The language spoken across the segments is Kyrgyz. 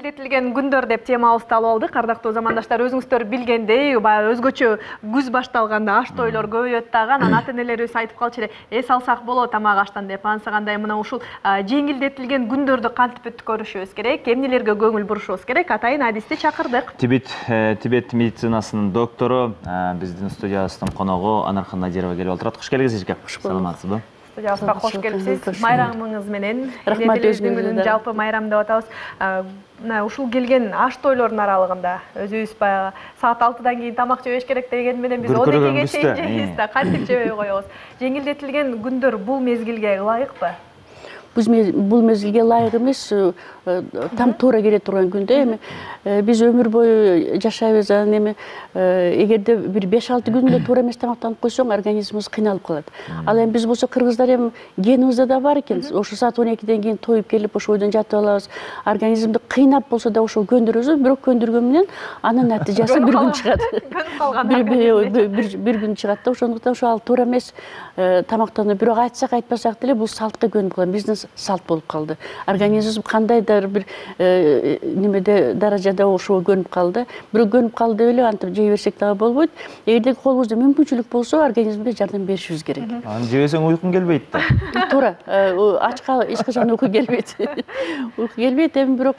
Жеңилдетилген күндөр деп темабызды алып алдык. Кардактуу замандаштар, өзүңүздөр билгендей, баягы өзгөчө күз башталганда аш тойлор көбөйөт дагы. Анан ата-энелерибиз айтып калчу эле, эс алсак болот тамак аштан деп. Ансагандай мына ушул жеңилдетилген күндөрдү кантип өткөрүшүбүз керек, эмнелерге көңүл бурушубуз керек, атайын адисти чакырдык. Тибет медицинасынын доктору, биздин студиябыздын коногу Анархан Надирова келип отурат. Куш келиңиз эжеке. Саламатсызбы? Студиябызга кош келипсиз. Майрамыңыз менен. Рахмат, Күнүн жалпы майрам деп атабыз. Мына ушул келген аш тойлордун аралыгында өзүбүз баягы саат 6-дан кийин тамак жебеш керек деген менен биз 12-ге чейин жейбиз да, кантип жебей коебуз. Жеңилдетилген күндөр бул мезгилге ылайыкпы? Бул мезгилге ылайык эмес, там туура келе турган күндө. Эми биз өмүр бою жашайбыз, анан эми эгерде бир 5-6 күндө туура эмес тамактанып койсоң, организмибиз кыйналып калат. Ал эми биз болсо кыргыздар эми генибизде да бар экен. Ошо саат 12-ден кийин тоюп келип, ошол бойдон жатып алабыз. Организмди кыйнап болсо да ошол көндүрөбүз, бирок көндүргөн менен анын натыйжасы бир күн чыгат. Көнүп калган. Бир күн чыгат да, ошондуктан ошо ал туура эмес тамактануу. Бирок айтсак айтпасак деле бул салтка көнүп калган, биздин салт болуп калды. Организм кандайдыр бир немеде даражада ошого көнүп калды. Бирок көнүп калды деп эле антип жей берсек дагы болбойт. Эгерде колубузда мүмкүнчүлүк болсо, организмге жардам беришибиз керек. Аны жебесең уйкуң келбейт да. Туура, ачка эч качан уйку келбейт. Уйку келбейт, эми бирок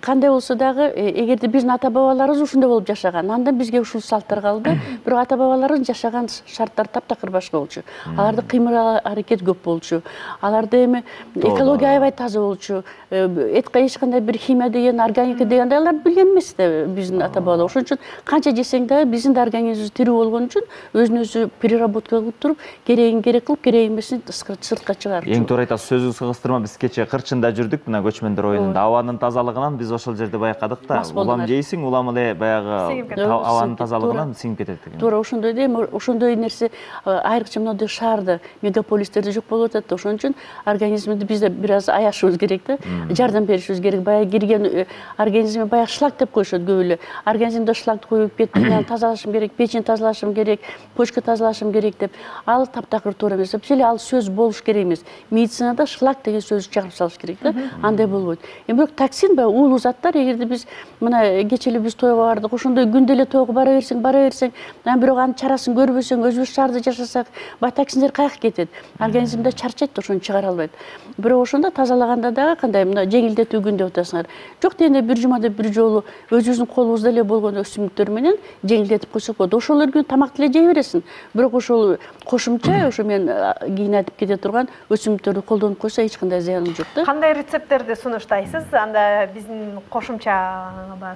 кандай болсо дагы, эгерде биздин ата-бабаларыбыз ушундай болуп жашаган, андан бизге ушул салттар калды. Бирок ата-бабаларыбыз жашаган шарттар таптакыр башка болчу. Аларда кыймыл аракет көп болчу. Аларда эми экология аябай таза болчу. Этке эч кандай бир химия деген, органика деген алар билген эмес да биздин ата-бабалар. Ошон үчүн канча жесең дагы биздин да организмибиз тирүү болгон үчүн өзүн өзү переработка кылып туруп, керегин керек кылып, керек эмесин сыртка чыгарып. Эң туура айтасыз, сөзүңүзгө кыстырма, биз кече Кырчында жүрдүк, мына көчмөндөр оюнунда. Абанын тазалыгынан биз ошол жерде байкадык да. Улам жейсиң, улам эле баягы абанын тазалыгынан сиңип кетет деген. Туура ошондой да, эми ошондой нерсе айрыкча мындай шаарда, мегаполистерде жок болуп атат. Ошон үчүн организмди бизде бир аз аяшыбыз керек да, жардам беришибиз керек. Баягы кирген организмге баягы шлак деп коюшат көп эле. Организмде шлак коюп кетти, тазалашым керек, печень тазалашым керек, почка тазалашым керек деп. Ал таптакыр туура эмес. Эле ал сөз болуш керек эмес. Медицинада шлак деген сөздү чыгарып салыш керек да. Андай болбойт. Эми бирок токсин баягы уулуу заттар, эгерде биз мына кече эле биз тойго бардык, ошондой күндө эле тойго бара берсең, анан бирок анын чарасын көрбөсөң, өзүбүз шаарда жашасак, баягы токсиндер каяка кетет. Организмде чарчайт, ошону чыгара албайт. Бирок ошондо тазалаганда дагы кандай мына жеңилдетүү күн деп атасыңар. Жок дегенде бир жумада бир жолу өзүбүздүн колубузда эле болгон өсүмдүктөр менен жеңилдетип койсок болот. Ошол күн тамакты эле жей бересиң. Бирок ошол кошумча, ошо мен кийин айтып кете турган өсүмдүктөрдү колдонуп койсо эч кандай зыяны жок да. Кандай рецепттерди сунуштайсыз? Анда биздин кошумча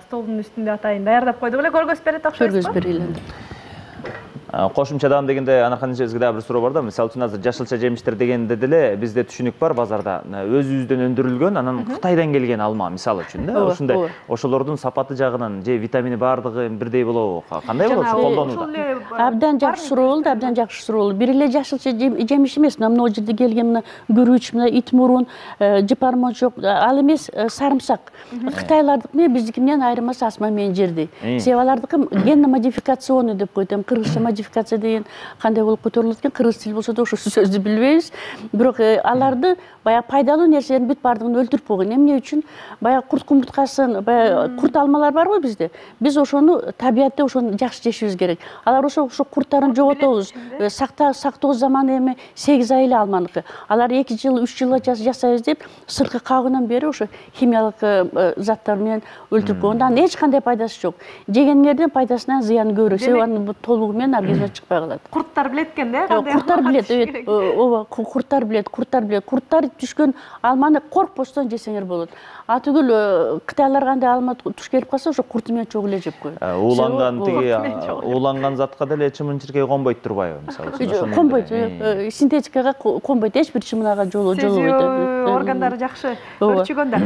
столдун үстүндө атайын даярдап койдук эле, көргөзүп берет окшойсузбу? Көргөзүп берели. Кошумчадан дегенде Анархан эжебизге дагы бир суроо бар да. Мисалы үчүн азыр жашылча жемиштер дегенде деле бизде түшүнүк бар базарда. Өзүбүздөн өндүрүлгөн, анан Кытайдан келген алма мисалы үчүн да. Ошондой ошолордун сапаты жагынан же витамини баардыгы бирдей болобу? Кандай болот колдонууда? Абдан жакшы суроо болду, абдан жакшы суроо болду. Бир эле жашылча жемиш эмес. Мына могу жерде келген мына күрүч, мына ит мурун, жыпармочок, ал эмес сарымсак. Кытайлардыкы менен биздики менен айырмасы асма менен жердей. Себеби алардыкы генно-модификационный деп коет. Эми кыргызча модификация деген кандай болуп которулат экен, кыргыз тили болсо да ошол сөздү билбейбиз. Бирок аларды баягы пайдалуу нерселердин бүт баардыгын өлтүрүп койгон. Эмне үчүн? Баягы курт кумурткасын, баягы курт алмалар барбы бизде? Биз ошону табиятта ошону жакшы жешибиз керек. Алар ошо курттарын жоготобуз. Сактоо заманы эми 8 ай эле алманыкы. Алар 2 жыл, 3 жылга жасайбыз деп сырткы кабыгынан бери ошо химиялык заттар менен өлтүрүп койгон. Андан эч кандай пайдасы жок. Жегендердин пайдасынан зыяны көбүрөөк. Себеби анын толугу менен организмге чыкпай калат. Курттар билет экен да, кандай? Курттар билет, ооба, курттар билет. Курттар түшкөн алманы коркпостон жесеңер болот. Түгүл кытайлар кандай алма туш келип калса, ошо курту менен чогуу эле жеп коет. Ууланган затка деле чымын-чиркей конбойт турбайбы, мисалы үчүн? Конбойт, синтетикага конбойт, эч бир чымынага жолобойт. Органдары жакшы өрчүгөн да.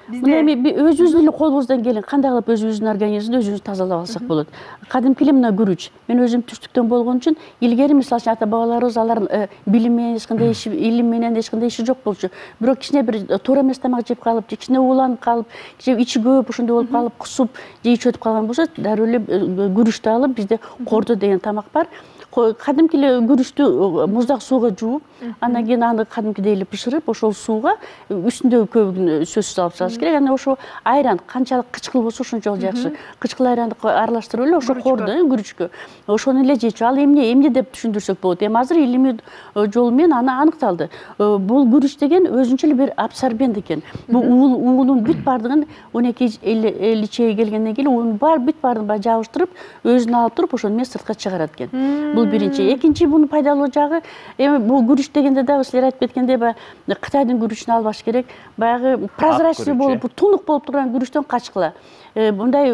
Мына эми өзүбүздүн эле колубуздан келген кандай кылып өзүбүздүн организмди өзүбүз тазалап алсак болот. Кадимки эле мына күрүч. Мен өзүм түштүктөн болгон үчүн илгери мисалы үчүн ата-бабаларыбыз алардын билим менен эч кандай иши, илим менен эч кандай иши жок болчу. Бирок кичине бир туура эмес тамак жеп калып, кичине ууланып калып, же ичи көп ошондой болуп калып, кусуп, же ичип өтүп калган болсо, дароо эле күрүчтү алып, бизде кордо деген тамак бар. кадимки эле күрүчтү муздак сууга жууп, андан кийин аны кадимкидей эле бышырып, ошол сууга үстүндөгү көбүгүн сөзсүз алып салыш керек. Анан ошо айран канчалык кычкыл болсо ошончолук жакшы. Кычкыл айранды аралаштырып эле ошо корду, күрүчкө. Ошону эле жечү. Ал эмне деп түшүндүрсөк болот. Эми азыр илимий жол менен аны аныкталды. Бул күрүч деген өзүнчө эле бир абсорбент экен. Бул уунун бүт бардыгын 12-50 чейге келгенден кийин уунун бүт бардыгын жабыштырып, өзүнө алып туруп, ошону менен сыртка чыгарат экен. Бул биринчи. Экинчи муну пайдалуу жагы, эми бул күрүч дегенде дагы силер айтып кеткендей, баягы Кытайдын күрүчүн албаш керек. Баягы прозрачный болуп, тунук болуп турган күрүчтөн качкыла. Мындай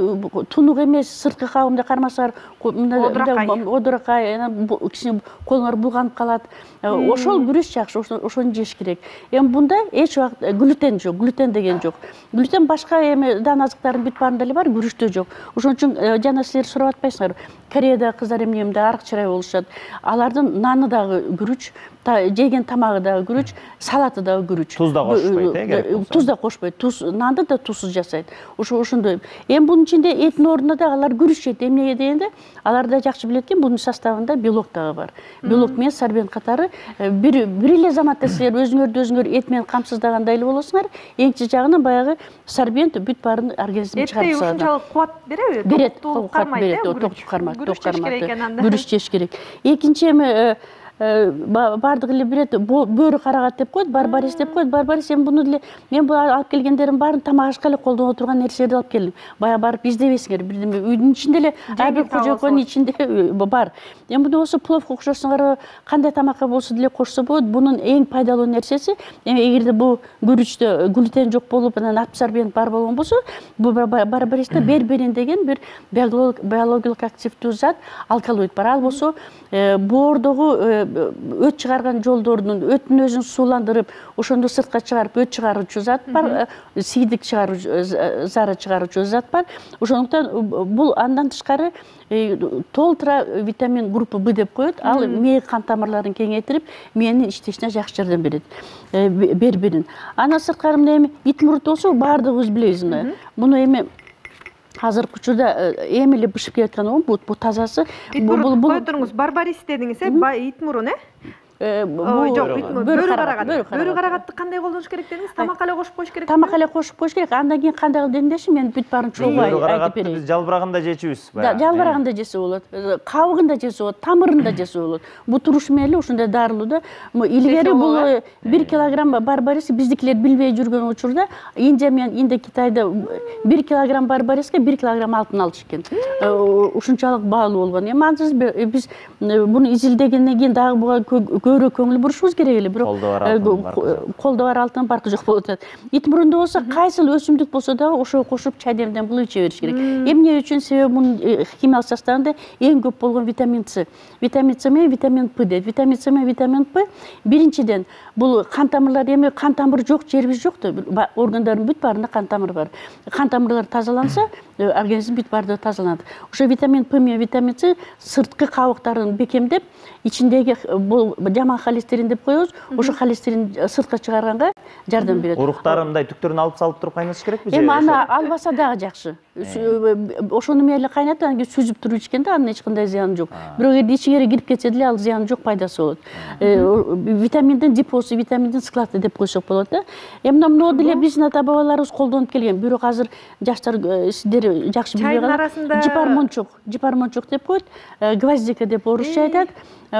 тунук эмес, сырткы кабымда кармасаңар, одуракай, кичине колуңар булганып калат. Ошол күрүч жакшы, ошону жеш керек. Эми бунда эч убакыт глютен жок, глютен деген жок. Глютен башка эми дан азыктардын бүт баарында эле бар, күрүчтө жок. Ошон үчүн жана силер сурап атпайсыңарбы, Кореяда кыздар эмне арык чырай болушат. Алардын наны дагы күрүч, жеген тамагы дагы күрүч, салаты дагы күрүч. Туз да кошпойт, керек болсо. Туз да кошпойт. Нанды да тузсуз жасайт. Ошондой. Эми бунун ичинде эттин ордуна да алар күрүч жейт. Эмнеге дегенде, алар да жакшы билет экен, бунун составында белок дагы бар. Белок менен сорбент катары бир эле заматта силер өзүңөр эт менен камсыздагандай эле болосуңар. Эңчи жагынан баягы сорбент бүт баарын организмге чыгарып салат. Этте ушунчалык кубат береби? Берет, токтуп кармайт. Күрүч жеш керек. Экинчи эми бардыгы эле билет, бөрү карагат деп коет, барбарис деп коет. Барбарис эми буну деле мен бул алып келгендерим баарын тамак ашка эле колдоно турган нерселерди алып келдим. Бая барып издебесиңер, бирдеме үйдүн ичинде эле ар бир кожоконун ичинде бар. Эми буну болсо пловко кошосуңар, кандай тамакка болсо деле кошсо болот. Бунун эң пайдалуу нерсеси, эми эгерде бул күрүчтө глютен жок болуп, анан абсорбент бар болгон болсо, бул барбаристе берберин деген бир биологиялык активдүү зат, алкалоид бар. Ал болсо боордогу өт чыгарган жолдордун өттүн өзүн сууландырып, ошондо сыртка чыгарып өт чыгаруучу зат бар, сийдик чыгаруучу, зара чыгаруучу зат бар. Ошондуктан бул андан тышкары толтура витамин группа Б деп коет. Ал мээ кан тамырларын кеңейтирип, мээнин иштешине жакшы жардам берет. Берберин. Андан сырткары эми итмурут болсо баардыгыбыз билебиз мына. Муну эми азыркы учурда эми эле бышып келаткан бул тазасы. Кой туруңуз, барбарис дедиңиз, итмурун, жок, бөрү карагат. Бөрү карагатты кандай колдонуш керек дедиңиз? Тамакка эле кошуп коюш керек. Тамакка эле кошуп коюш керек. Андан кийин кандай кылып деңдеши, мен бүт баарын чогуу айтып берейин. Биз жалбырагында жечүбүз. Жалбырагында жесе болот, кабыгында жесе болот, тамырында жесе болот. Бул турушу менен эле ушундай дарылууда. Илгери бул 1 килограмм барбарис биздикилер билбей жүргөн учурда Индия менен Китайда 1 килограмм барбариске 1 килограмм алтын алыш экен. Ушунчалык баалуу болгон. Эми ансыз биз буну изилдегенден кийин дагы буга көбүрөөк көңүл бурушубуз керек эле. Бирок колдо бар алтын баркы жок болуп атат. Ит мурунда болсо кайсыл өсүмдүк болсо дагы ошого кошуп чай демден булып иче бериш керек. Эмне үчүн? Себеби мунун химиялык составында эң көп болгон витамин С. Витамин С менен витамин П дейт. Витамин С менен витамин П биринчиден бул кан тамырлар, эми кан тамыры жок жерибиз жок да. Органдардын бүт баарында кан тамыры бар. Кан тамырлар тазаланса, организм бүт баардыгы тазаланат. Ошо витамин П менен витамин С сырткы кабыктарын бекемдеп, ичиндеги бул жаман холестерин деп коебуз. Ошо холестерин сыртка чыгарганга жардам берет. Уруктарын мындай түктөрүн алып салып туруп кайнатыш керекпи? Эми аны албаса дагы жакшы. Ошону менен эле кайнатып, анан кийин сүзүп туруп ичкенде анын эч кандай зыяны жок. Бирок эгер ичиңерге кирип кетсе деле ал зыяны жок, пайдасы болот. Витаминдин депосу, витаминдин склады деп койсок болот да. Эми мына деле биздин ата бабаларыбыз колдонуп келген. Бирок азыр жаштар сиздер жакшы билбей калат. Жипармончок деп коет, гвоздика деп орусча айтат.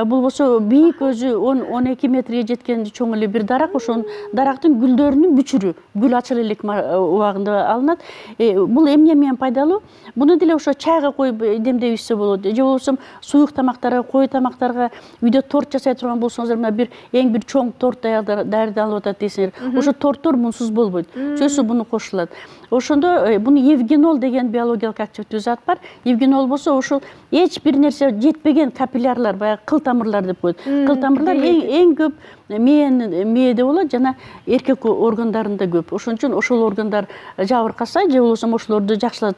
Бул болсо бийик, өзү 10-12 метрге жеткен чоң эле бир дарак. Ошонун дарактын гүлдөрүнүн бүчүрү, гүл ачыл элек убагында алынат. Бул эмне менен пайдалуу? Буну деле ошо чайга коюп демдеп ичсе болот. Же болбосо суюк тамактарга, кою тамактарга, үйдө торт жасай турган болсоңуздар, мына бир эң бир чоң торт даярдалып атат десеңер, ошо торттор мунсуз болбойт. Сөзсүз буну кошулат. Ошондо буну евгенол деген биологиялык активдүү зат бар. Евгенол болсо ошол эч бир нерсе жетпеген капиллярлар, баягы кыл тамырлар деп коет. Кыл тамырлар эң көп мээде болот, жана эркек органдарында көп. Ошон үчүн ошол органдар жабыркаса, же болбосо ошолорду жакшылап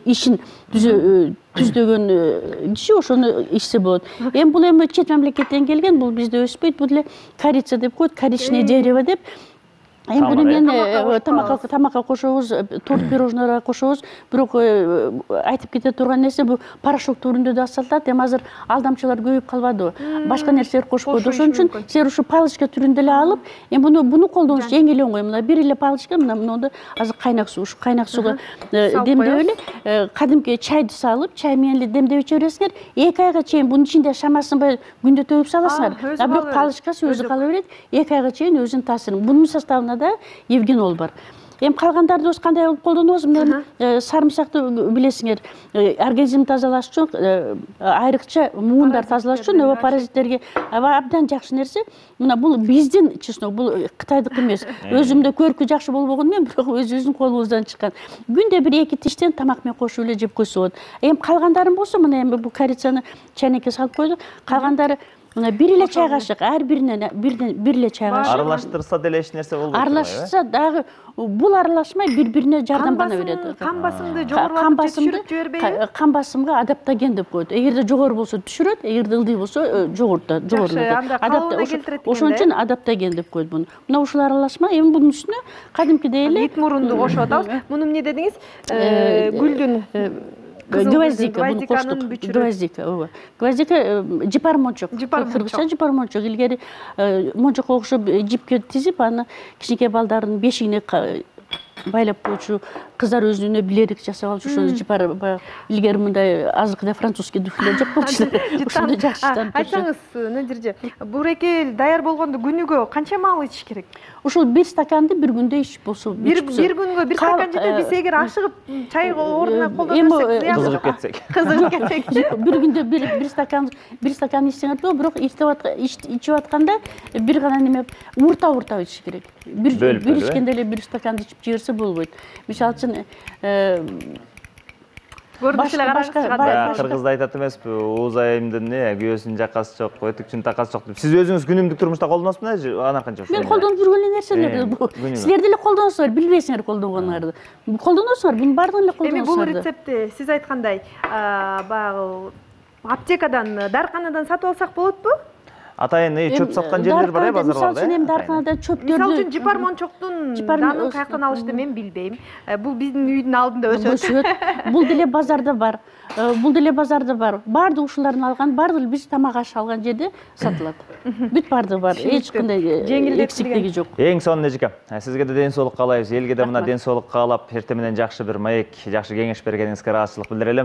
ишин түздөгөн киши ошону ичсе болот. Эми бул чет мамлекеттен келген, бул бизде өспөйт. Бул эле корица деп коет, коричное дерево деп. Эми буну мен тамакка кошобуз, торт пирожнойлорго кошобуз. Бирок айтып кете турган нерсе бул порошок түрүндө да сатылат. Эми азыр алдамчылар көбөйүп калбадыбы? Башка нерселер кошпойт. Ошон үчүн силер ушу палочка түрүндө эле алып, эми буну колдонуш эң эле оңой. Мына бир эле палочка, мына азыр кайнак суу, ушу кайнак сууга демдеп эле кадимки чайды салып, чай менен эле демдеп иче бересиңер. 2 айга чейин бунун ичинде шамасынбай күндө төгүп саласыңар. Бирок палочкасы өзү кала берет. 2 айга чейин өзүнүн таасирин. Бунун составына да евгенол бар. Эми калгандарды өз кандай кылып колдонобуз? Мен сарымсакты билесиңер, организмди тазалаш үчүн, айрыкча муундар тазалаш үчүн ооба паразиттерге абдан жакшы нерсе. Мына бул биздин чеснок, бул Кытайдык эмес. Өзүмдө көркү жакшы болбогон менен, бирок өзүбүздүн колубуздан чыккан. Күндө 1-2 тиштен тамак менен кошуп эле жеп койсо болот. Эми калгандарын болсо, мына эми бул корицаны чайнекке салып койдук. Калгандары мына бир эле чай кашык, ар биринен бир эле чай кашык. Аралаштырса деле эч нерсе болбойт. Аралашса дагы бул аралашмай бири-бирине жардамдана берет. Кан басымды жогорулатып түшүрүп жибербейби? Кан басымга адаптоген деп коет. Эгерде жогору болсо түшүрөт, эгерде ылдый болсо жогорулатат. Ошон үчүн адаптоген деп коет буну. Мына ушул аралашма, эми бунун үстүнө кадимкидей эле ит мурунду кошуп атабыз. Муну эмне дедиңиз? Гүлдүн гвоздика, буну коштук. Гвоздика, ооба. Гвоздика жипар мончок. Кыргызча жипар мончок. Илгери мончокко окшоп жипке тизип, аны кичинекей балдардын бешигине байлап койчу кыздар өзүнө билерик жасап алчу. Ошону жипар илгери мындай азыркыдай французский духлер жеп койчу. Ошону жакшы таанып көрчү. Айтсаңыз, Надирже, бурекел даяр болгондо күнүгө канча маал ичиш керек? Ушул 1 стаканды бир күндө ичип болсо, бир күнгө 1 стакан жетет. Биз эгер ашыгып чай ордуна колдонсок, кызыгып кетсек, бир күндө 1 стакан ичсеңер болот, бирок ичип атканда бир гана неме урта ичиш керек. Бир ичкенде эле 1 стаканды ичип жиберсе болбойт. Мисалы үчүн кыргызда айтат эмеспи, ууз айымдын күйөөсүнүн жакасы жок, өтүкчүнүн такасы жок деп. Сиз өзүңүз күнүмдүк турмушта колдоносузбу? Анан канча? Мен колдонуп жүргөн эле нерселер бул. Силер деле колдоносуңар, билбейсиңер колдонгонуларды. Колдоносуңар, бунун баардыгын эле колдоносуңар. Эми бул рецептти сиз айткандай баягы аптекадан, дарыканадан сатып алсак болотпу? Атайын чөп саткан жерлер бар базарларда. Мисалы үчүн дарыканада чөптөрдү, мисалы үчүн жипар мончоктун данын каяктан алышты мен билбейм. Бул биздин үйдүн алдында өсөт. Бул деле базарда бар. Баардык ушулардын алган, баардыгы биз тамак аш алган жерде сатылат. Бүт баардыгы бар. Эч кандай эксиктиги жок. Эң сонун Нежика, сизге да ден соолук каалайбыз. Элге да мына ден соолук каалап, эртең менен жакшы бир маек, жакшы кеңеш бергениңизге ыраазычылык билдирелим.